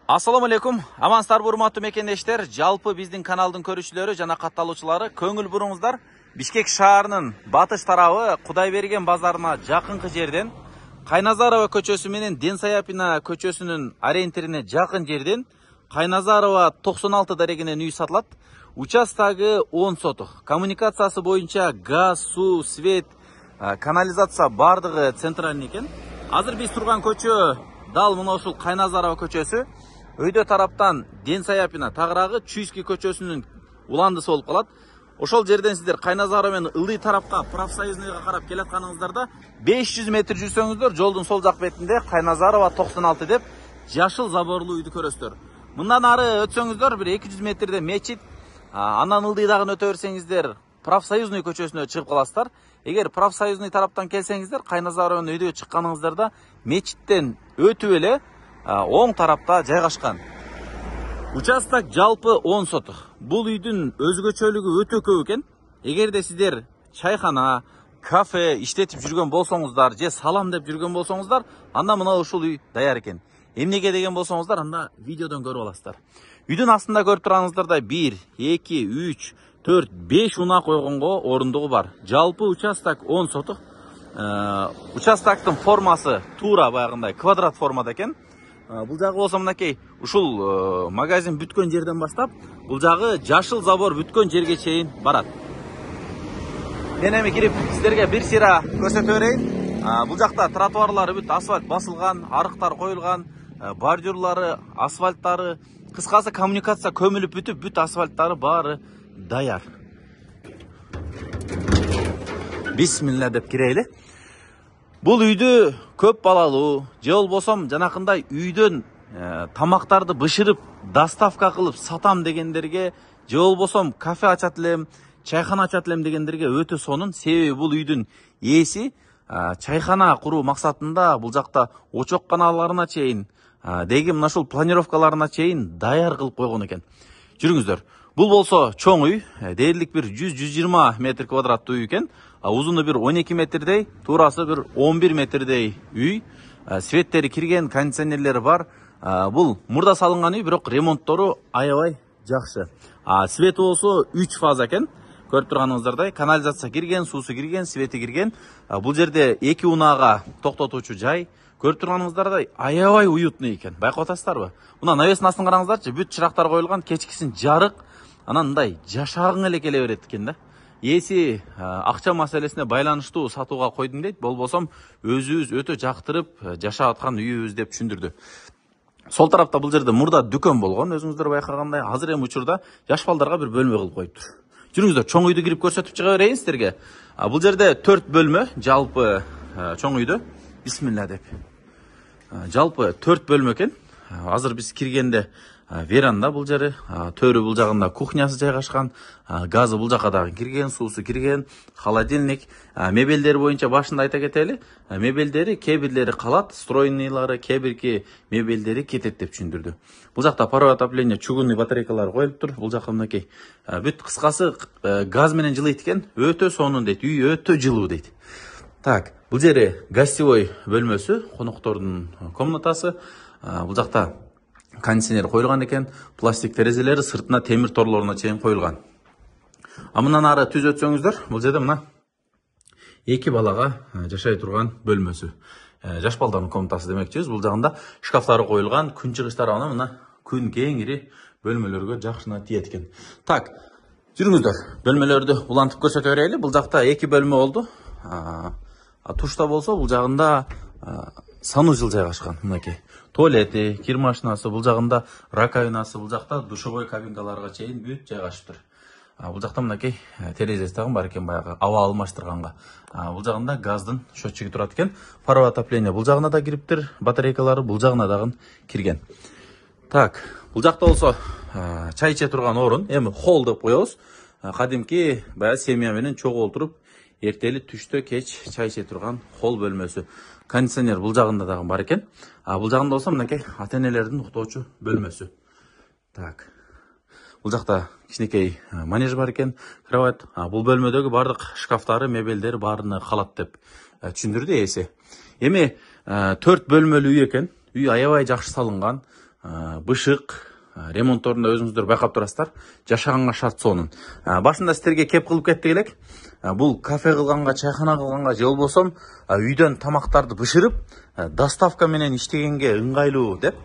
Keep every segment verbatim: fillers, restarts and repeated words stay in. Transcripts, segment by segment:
Assalamu alaikum. Амансыздарбы урматтуу мекендештер. Жалпы биздин каналдын көрүүчүлөрү жана катталуучулары көңүл буруңуздар. Бишкек шаарынын батыш тарабы Кудайберген базарына жакынкы жерден, Кайназарова көчөсү менен Денсаяпина көчөсүнүн ориентирине жакын жерден Кайназарова токсон алты дарегинен үй сатылат. Участогу он сотук. Коммуникациясы боюнча газ, суу, свет, канализация бардыгы центральный экен. Азыр биз турган көчө дал мына ушул Кайназарова көчөсү. Өйдө тараптан Денсаяпина тагыраагы Чуйский көчөсүнүн уландысы болуп калат. Ошол жерден сиздер Кайназарова менен ылдый тарапка профсоюзныйга карап келатканыңыздарда беш жүз метр жүрсөңүздөр жолдун сол жак бетинде Кайназарова токсон алты деп жашыл заборлуу үйдү көрөсүздөр. Мындан ары өтсөңүздөр бир эки жүз метрде мечит, андан ылдыйдагын өтө берсеңиздер профсоюзный көчөсүнө чыгып каласыздар. Эгер профсоюзный тараптан келсеңиздер Кайназарова менен үйдөгө чыкканыңыздарда мечиттен өтүп эле оң тарапта жайгашкан. Участок жалпы он сотук. Бул үйдүн өзгөчөлүгү өтө көп экен. Эгерде сиздер чайхана, кафе иштетип жүргөн болсоңуздар, же салам деп жүргөн болсоңуздар, анда мына ушул үй даяр экен. Эмнеге деген болсоңуздар, анда видеодон көрүп аласыздар. Үйдүн астында көрүп турганыңыздарда бир, эки, үч, төрт, беш унаа койгонго орундугу бар. Жалпы участок он сотук. Участоктун формасы туура баягындай квадрат формада экен. Бул жагы болсо мынакей ушул магазин бүткөн жерден баштап, бул жагы жашыл забор бүткөн жерге чейин барат. Мен эми кирип сиздерге бир сыйра көрсөтө берейин. Бул жакта тротуарлары бүт асфальт басылган, арыктар коюлган, бордюрлары, асфальттары, кыскасы коммуникация көмүлүп бүтүп, бүт асфальттары баары даяр. Бисмилла деп кирейли. Бул үйдү көп балалуу, же болбосом жанакындай үйдөн тамактарды бышырып, доставка кылып сатам дегендерге, же болбосом кафе ачат элем, чайхана ачат элем дегендерге өтө сонун. Себеби бул үйдүн ээси чайхана куруу максатында бул жакта очок каналдарына чейин, деги мына ушул планировкаларына чейин даяр кылып койгон экен. Жүрүңүздөр. Бул болсо чоң үй, дээрлик бир жүз жүз жыйырма метр квадраттуу үй экен. Узуну бир он эки метрдей, туурасы бир он бир метрдей үй. Светтери кирген, кондиционерлери бар. Бул мурда салынган үй, бирок ремонттору аябай жакшы. Свети болсо үч фаза экен. Көрүп турганыңыздардай, канализация кирген, суусу кирген, свети кирген. Бул жерде эки унаага токтотуучу жай. Көрүп турганыңыздардай, аябай уютный экен. Байкап атасыздарбы? Мына навестин астын караңыздарчы, бүт чырактар коюлган, кечкисин жарык. Анан мындай жашагың эле келе берет экен да. Ээси акча маселесине байланыштуу сатууга койдум дейт, болбосом өзүбүз өтө жактырып жашап аткан үйүбүз деп түшүндүрдү. Сол тарапта бул жерде мурда дүкөн болгон, өзүңүздөр байкагандай. Азыр эми учурда жаш балдарга бир бөлмө кылып коюптур. Жүрүңүздөр, чоң үйдү кирип көрсөтүп чыга берейин сиздерге. Бул жерде төрт бөлмө, жалпы чоң үйдө. Бисмилла деп. Жалпы төрт бөлмө экен. Азыр биз киргенде веранда бул жери, төрү бул жагында кухнясы жайгашкан, газы бул жака дагы кирген, суусу кирген, холодильник, мебелдери боюнча башында айта кетели. Мебелдери кээ бирлери калат, стройныйлары, кээ бирки мебелдери кетет деп түшүндүрдү. Бул жакта паровой отопление, чугунный батарейкалар коюлуптур. Бул жака мынакей бүт кыскасы газ менен жылыйт экен. Өтө сонун дейт, үй өтө жылуу дейт. Так, бул жери гостевой бөлмөсү, коноктордун комнатасы. Бул жакта кондиционер коюлган экен, пластик терезелери сыртына темир торлоруна чейин коюлган. А мындан ары түз өтсөңүздөр, бул жерде мына эки балага жашай турган бөлмөсү. Жаш балдардын комнатасы демекчибиз. Бул жагында шкафтары коюлган, күн чыгыштары аны мына күн кеңири бөлмөлөргө жакшына тиет экен. Так, жүрүңүздөр, бөлмөлөрдү улантып көрсөтө берели. Бул жакта эки бөлмө болду. Тушта болсо бул жагында санузел жайгашкан, мынакей. Туалети, кир машинасы, бул жагында раковинасы, бул жакта душевой кабинкаларга чейин бүт жайгашыптыр. Бул жакта мынакей терезеси дагы бар экен, баягы аба алмаштырганга. Бул жагында газдын счетчиги турат экен. Паровой отопление бул жагына да кириптир, батарейкалары бул жагына дагы кирген. Так, бул жакта болсо чай иче турган орун, эми холл деп коебуз. Кадимки баягы семья менен чогуу олтуруп, эртели түштө кеч чай иче турган холл бөлмөсү. Кондиционер бул жагында дагы бар экен. Бул жагында болсо мынакей ата-энелердин уктоочу бөлмөсү. Так. Бул жакта кичинекей манеж бар экен, кровать. Бул бөлмөдөгү бардык шкафтары, мебелдери баарына калат деп түшүндүрдү ээси. Эми төрт бөлмөлүү үй экен. Үй аябай жакшы салынган. бышык ремонтторунда өзүңүздөр байкап турасыздар. Жашаганга шарт сонун. Башында сиздерге кеп кылып кеттик элек. Бул кафе кылганга, чайхана кылганга же болбосом үйдөн тамактарды бышырып, доставка менен иштегенге ыңгайлуу деп.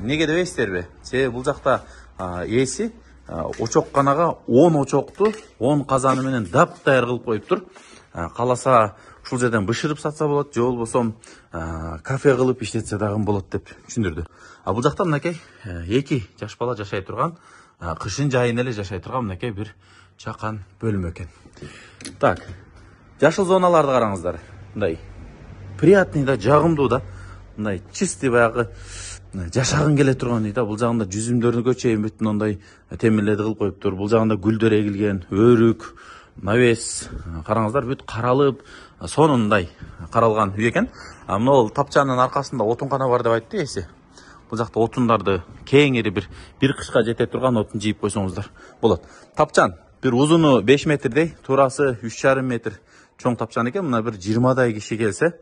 Неге дебейсиздерби? Себеби бул жакта ээси очокканага он очокту он казаны менен дап-даяр кылып коюптур. Каласа ушул жерден бышырып сатса болот, же болбосом кафе кылып иштетсе дагы болот деп түшүндүрдү. А бул жакта мынакей эки жаш бала жашай турган, кышын жайын эле жашай турган мынакей бир чакан бөлмө экен. Так, жашыл зоналарды караңыздар. Мындай приятный да, жагымдуу да. Мындай чистый баягы жашагың келе турган да. Бул жагында жүзүмдөрүнгө чейин бүт мындай темирлерди кылып коюптур. Бул жагында гүлдөр эгилген, өрүк, навес. Караңыздар, бүт каралып, сонундай каралган үй экен. А мына тапчанын аркасында отункана бар деп айтты эси. Бул жакта отундарды кеңири бир бир кышка жете турган отун жийип койсоңуздар болот. Тапчан бир узуну беш метрдей, туурасы үч жарым метр чоң тапчан экен. Мына бир жыйырмадай киши келсе,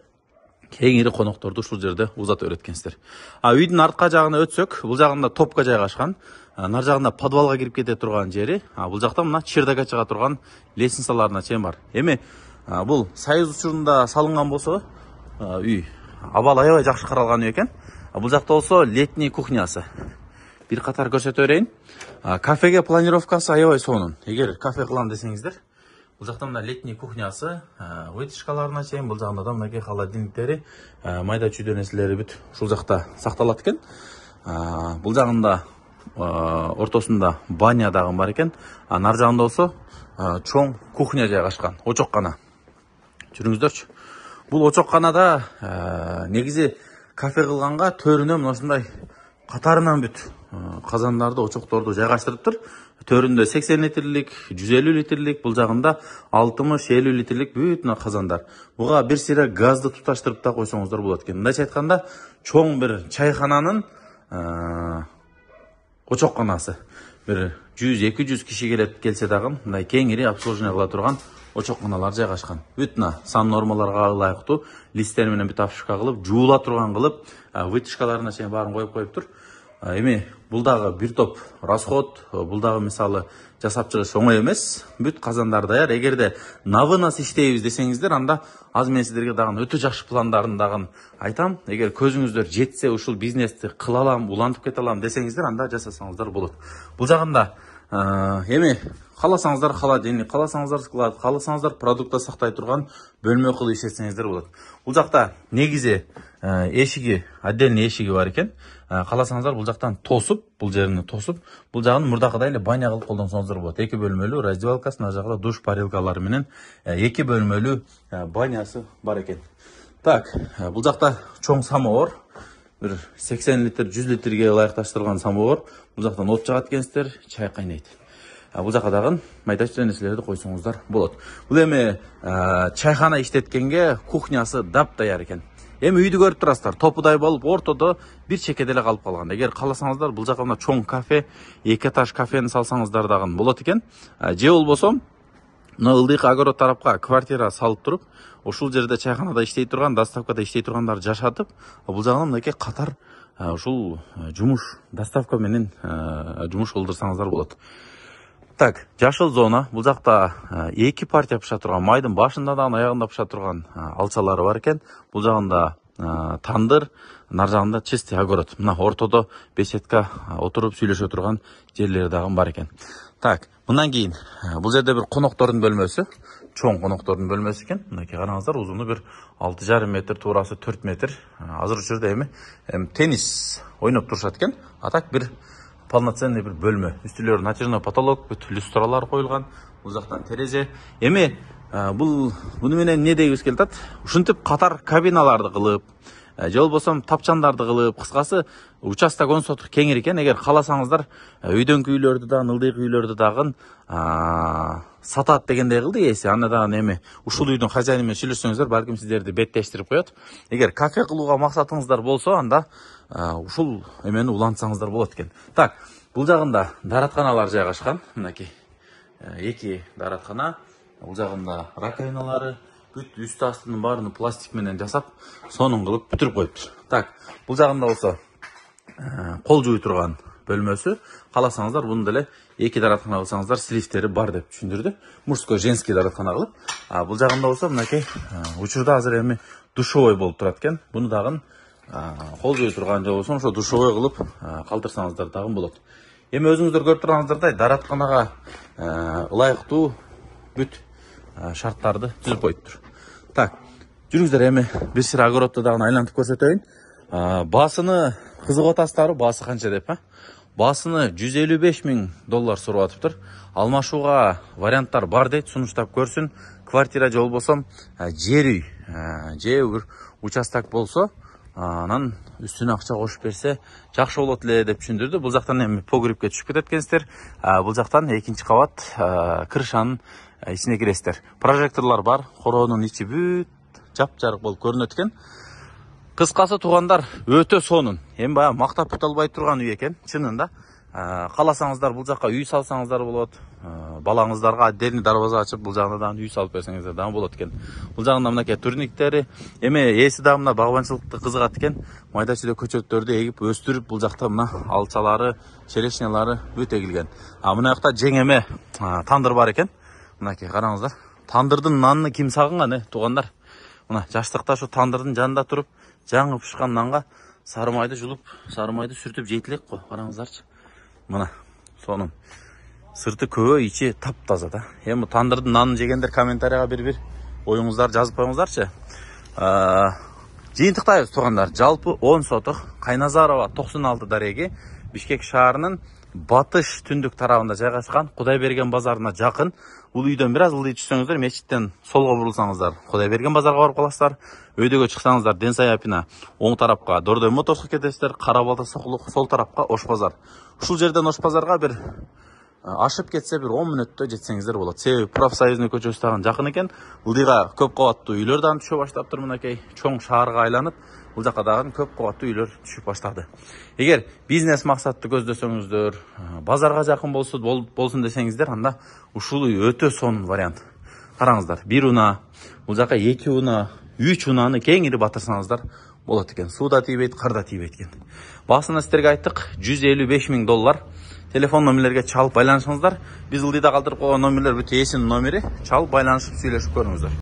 кеңири конокторду ушул жерде узата өткенсиздер. А үйдүн артка жагына өтсөк, бул жагында топка жайгашкан. Нар жагында подвалга кирип кете турган жери. А бул жакта мына чердакка чыга турган лестницаларына чейин бар. Эми бул Союз учурунда салынган болсо, үй абал аябай жакшы каралган үй экен. Бул жакта болсо летний кухнясы. Бир катар көрсөтө берейин. Кафеге планировкасы аябай сонун. Эгер кафе кылам десеңиздер, бул жакта мына летний кухнясы, вытяжкаларына чейин, бул жагында да мынакей холодильниктери, майда чүйдө нерселери бүт ушул жакта сакталат экен. Бул жагында ортосунда баня дагы бар экен. Нар жагында болсо чоң кухня жайгашкан, очоккана. Жүрүңүздөрчү. Бул очокканада негизи кафе кылганга төрүнө мынашындай катарынан бүт казандарды, очокторду жайгаштырыптыр. Төрүндө сексен литрлик, жүз элүү литрлик, бул жагында алтымыш элүү литрлик бүт казандар. Буга бир сыйра газды туташтырып да койсоңуздар болот экен. Мындайча айтканда, чоң бир чайхананын очокканасы. Бир жүз эки жүз киши келет келсе дагы, мындай кеңири обслуживание кыла турган очокканалар жайгашкан. Бүт сан нормаларга ылайыктуу листтер менен бүт обшивка кылып, жуула турган кылып, вытяжкаларына чейин баарын коюп коюптур. Эми бул дагы бир топ расход, бул дагы мисалы жасап чыгыш оңой эмес. Бүт казандар даяр. Эгерде навынас иштейбиз десеңиздер, анда азыр мен сиздерге дагы өтө жакшы пландарын дагы айтам. Эгер көзүңүздөр жетсе, ушул бизнести кыла алам, улантып кете алам десеңиздер, анда жасасаңыздар болот. Бул жагында эми кааласаңыздар холодильник, кааласаңыздар склад, кааласаңыздар продукта сактай турган бөлмө кылып иштетсеңиздер болот. Бул жакта негизи эшиги, отдельный эшиги бар экен. Кааласаңыздар бул жактан тосуп, бул жерини тосуп, бул жагын мурдакыдай эле баня кылып колдонсоңуздар болот. Эки бөлмөлүү раздевалкасы, мына жагында душ парилкалары менен эки бөлмөлүү банясы бар экен. Так, бул жакта чоң самовар, бир сексен литр, жүз литрге ылайыкташтырылган самовар. Бул жактан от жагат экенсиздер, чай кайнайт. Бул жака дагы майда чүйдө нерселерди койсоңуздар болот. Бул эми чайхана иштеткенге кухнясы дап-даяр экен. Эми үйдү көрүп турасыздар, топудай болуп, ортодо бир чекеде эле калып калган. Эгер кааласаңыздар, бул жака мына чоң кафе, эки этаж кафени салсаңыздар дагы болот экен. Же болбосо, мына ылдыйкы огород тарапка квартира салып туруп, ушул жерде чайханада иштей турган, доставкада иштей тургандар жашатып, бул жагынан мынакей катар ушул жумуш, доставка менен жумуш кылдырсаңыздар болот. Так, жашыл зона. Бул жакта эки партия пыша турган, майдын башында да, аягында пыша турган алчалары бар экен. Бул жагында тандыр, нар жагында чистый огород. Мына ортодо беседка отуруп сүйлөшө турган жерлери дагы бар экен. Так, мындан кийин бул жерде бир коноктордун бөлмөсү, чоң коноктордун бөлмөсү экен. Мынакей караңыздар, узуну бир алты жарым метр, туурасы төрт метр. Азыр учурда эми теннис ойноп турушат экен. А так бир полноценный бир бөлмө. Үстүлөрү натяжной потолок, бүт люстралар коюлган. Бул жактан терезе. Эми бул буну менен не дейбиз келатат? Ушинтип катар кабиналарды кылып, же болбосо тапчандарды кылып, кыскасы участок он соток кеңир экен. Эгер кааласаңыздар, үйдөнкү үйлөрдү да, ылдыйкы үйлөрдү дагы сатат дегендей кылды ээси. Аны дагы эми ушул үйдүн хозяйны менен сүйлөшсөңүздөр, балким сиздерди беттештирип коет. Эгер кафе кылууга максатыңыздар болсо, анда ушул эмени улантсаңыздар болот экен. Так, бул жагында дааратканалар жайгашкан. Мынакей эки даараткана. Бул жагында раковиналары, бүт үстү астынын баарын пластик менен жасап, сонун кылып бүтүрүп коюптур. Так, бул жагында болсо кол жууй турган бөлмөсү. Кааласаңыздар буну деле эки дараткана кылсаңыздар слифтери бар деп түшүндүрдү. Мужской, женский дараткана кылып. А бул жагында болсо мынакей учурда азыр эми душевой болуп турат экен. Буну дагы кол жууй турган же болбосо ошо душевой кылып калтырсаңыздар дагы болот. Эми өзүңүздөр көрүп турганыңыздардай даратканага ылайыктуу бүт шарттарды түзүп коюптур. Так, жүрүңүздөр эми бир сыйра огородду дагы айлантып көрсөтөйүн. Басыны кызыгып атасыздарбы? Баасы канча деп, а? Басыны жүз элүү беш миң доллар сурап атыптыр. Алмашууга варианттар бар дейт, сунуштап көрсүн. Квартира же болбосо жер үй, же бир участок болсо, анан үстүнө акча кошуп берсе жакшы болот эле деп түшүндүрдү. Бул жактан эми погребке түшүп кетет экенсиздер. Бул жактан экинчи кабат крышанын ичине киресиздер. Прожекторлор бар, короонун ичи бүт жапжарык болуп көрүнөт экен. Кыскасы туугандар, өтө сонун. Эми баягы мактап бүт албай турган үй экен, чынында. Кааласаңыздар бул жакка үй салсаңыздар болот. Балаңыздарга отдельный дарбаза ачып, бул жагына дагы үй салып берсеңиздер дагы болот экен. Бул жагында мынакей турниктери, эми ээси дагы мына багбанчылыкты кызыгат экен. Майда чүйдө көчөттөрдү эгип өстүрүп, бул жакта мына алчалары, черешнялары бүт эгилген. А мына жакта жеңеме тандыр бар экен. Мынакей караңыздар. Тандырдын нанын ким сагынган, э, туугандар? Мына жаштыкта ошо тандырдын жанында туруп, жаңы пышкан нанга сары майды жулуп, сары майды сүртүп жейтилек го. Караңыздарчы. Мына сонун. Сырты көбө, ичи таптаза да. Эми тандырдын нанын жегендер комментарийга бир-бир оюңуздарды жазып коюңуздарчы. Жыйынтыктайбыз туугандар. Жалпы он соток Кайназарова токсон алты дареги Бишкек шаарынын батыш түндүк тарабында жайгашкан, Кудайберген базарына жакын. Бул үйдөн бир аз ылдый түшсөңүздөр, мечиттен солго бурулсаңыздар Кудайберген базарга барып каласыздар. Өйдөгө чыксаңыздар Ден Саяпина оң тарапка Дордой Моторско кетесиздер, Кара Балта Сокулук сол тарапка Ош базар. Ушул жерден Ош базарга бир ашып кетсе бир он мүнөттө жетсеңиздер болот. Себеби профсоюзный көчөсү дагы жакын экен. Ылдыйга көп кабаттуу үйлөр дагы түшө баштаптыр мынакей. Чоң шаарга айланып, бул жака дагы көп кабаттуу үйлөр түшүп баштады. Эгер бизнес максатты көздөсөңүздөр, базарга жакын болсо болсун десеңиздер, анда ушул үй өтө сонун вариант. Караңыздар, бир уна, бул жака эки уна, үч унаны кеңири батырсаңыздар болот экен. Суу да тийбейт, кар да тийбейт экен. Баасына сиздерге айттык, жүз элүү беш миң доллар. Телефон номерлерге чалып байланышыңыздар. Биз ылдыйда калтырып койгон номерлер бүт ээсинин номери. Чалып байланышып сүйлөшүп көрүңүздөр.